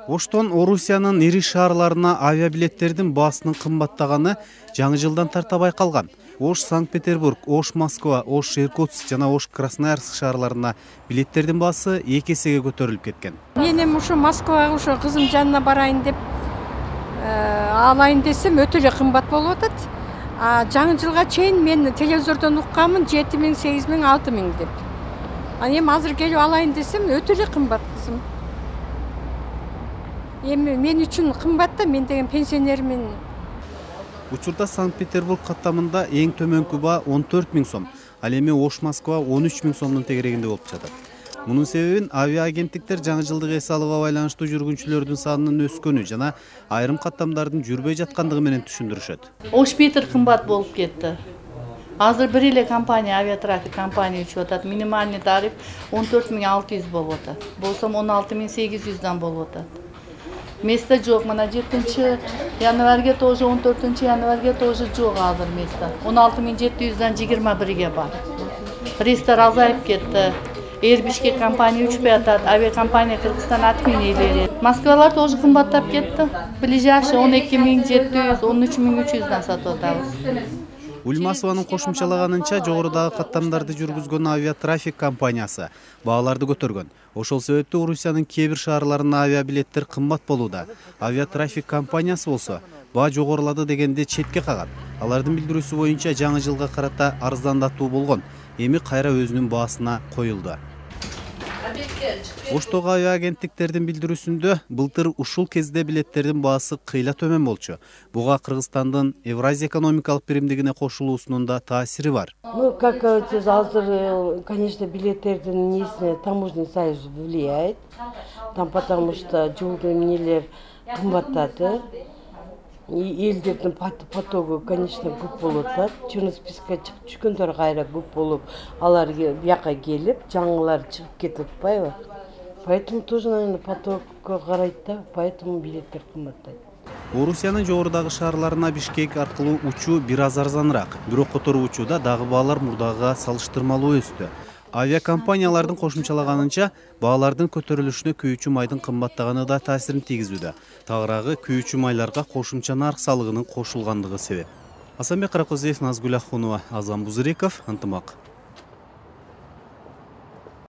Оштон Орусиянын ири шаарларына авиабилеттердин баасынын кымбаттаганы жаңы жылдан тарта байкалган. Ош Санкт-Петербург, Ош Москва, Ош Иркутск жана Ош Красноярск шаарларына билеттердин баасы 2 эсеге көтөрүлүп кеткен. Мен эми ушу Москвага ушу кызым жанына барайын деп алайын десем өтө эле кымбат болуп атат. Жаңы жылга чейин мен телевизордон укканмын 7000, 8000, 6000 деп. Эми азыр келип алайын десем өтө эле кымбат кызым. Эми мен үчүн кымбат да, мен деген пенсионермин. Учурда Санкт-Петербург каттамында эң төмөнкү баа 14 000 сом, ал эми Ош Москва 13 000 сомдун тегерегинде болуп жатат. Мунун себебин авиаагенттиктер жаңы жылдык эс алууга байланыштуу жүргүнчүлөрдүн санынын өскөнү жана айрым каттамдардын жүрбөй жаткандыгы менен түшүндүрүшөт. Ош Питер кымбат болуп кетти. Азыр бир эле компания, авиатрафик компания учуп атат. Минимальный тариф 14 600 болуп атат. Болсом 16 800 болуп атат. Место жок. Мына 7 январга тоже 14 январга тоже жок азыр место. 16 700 21 бар. Рейстер азайып кетти. Бишкек компания учпай атат. Авиакомпания Кыргызстан отменили. Москвалар тоже кымбаттап кетти. Ближайший 12 700, 13 300 сатып атабыз. Ульмасованын кошумчалаганынча, жогорудагы каттамдарды жүргүзгөн авиатрафик компаниясы бааларды көтөргөн. Ошол себептүү Орусиянын кээ бир шаарларына авиабилеттер кымбат болууда. Авиатрафик компаниясы болсо баа жогорулады дегенде четке кагат. Алардын билдирүүсү боюнча жаңы жылга карата арыздандатуу болгон. Эми кайра өзүнүн баасына коюлду. Оштогу авиагенттиктердин билдирүүсүндө былтыр ушул кезде билеттердин баасы кыйла төмөн болчу. Буга Кыргызстандын Евразия экономикалык биримдигине кошулуусунун да таасири бар. Как азыр, конечно, билеттердин несине таможенный союз влияет. Там потому что жолдун нелер кымбаттады. Элдердин потогу, конечно, көп болуп атат. Черный спискке чыгып түшкөндөр кайра көп болуп, алар бияка келип, жаңылар чыгып кетип атпайбы? Поэтому тоже, наверное, потокко карайт да, поэтому билеттер кымбаттайт. Орусиянын жогорудагы шаарларына Бишкек аркылуу учуу бир аз арзаныраак. Бирок которуу учууда дагы баалар мурдагыга салыштырмалуу өстү. Авиакомпаниялардын кошумчалаганынча, баалардын көтөрүлүшүнө күйүүчү майдын кымбаттаганы да таасирин тийгизүүдө. Тагыраагы күйүүчү майларга кошумча нарк салыгынын кошулгандыгы себеп. Асанбек Каракозиев, Назгүл Ахунова, Азан Бузыреков, Ынтымак.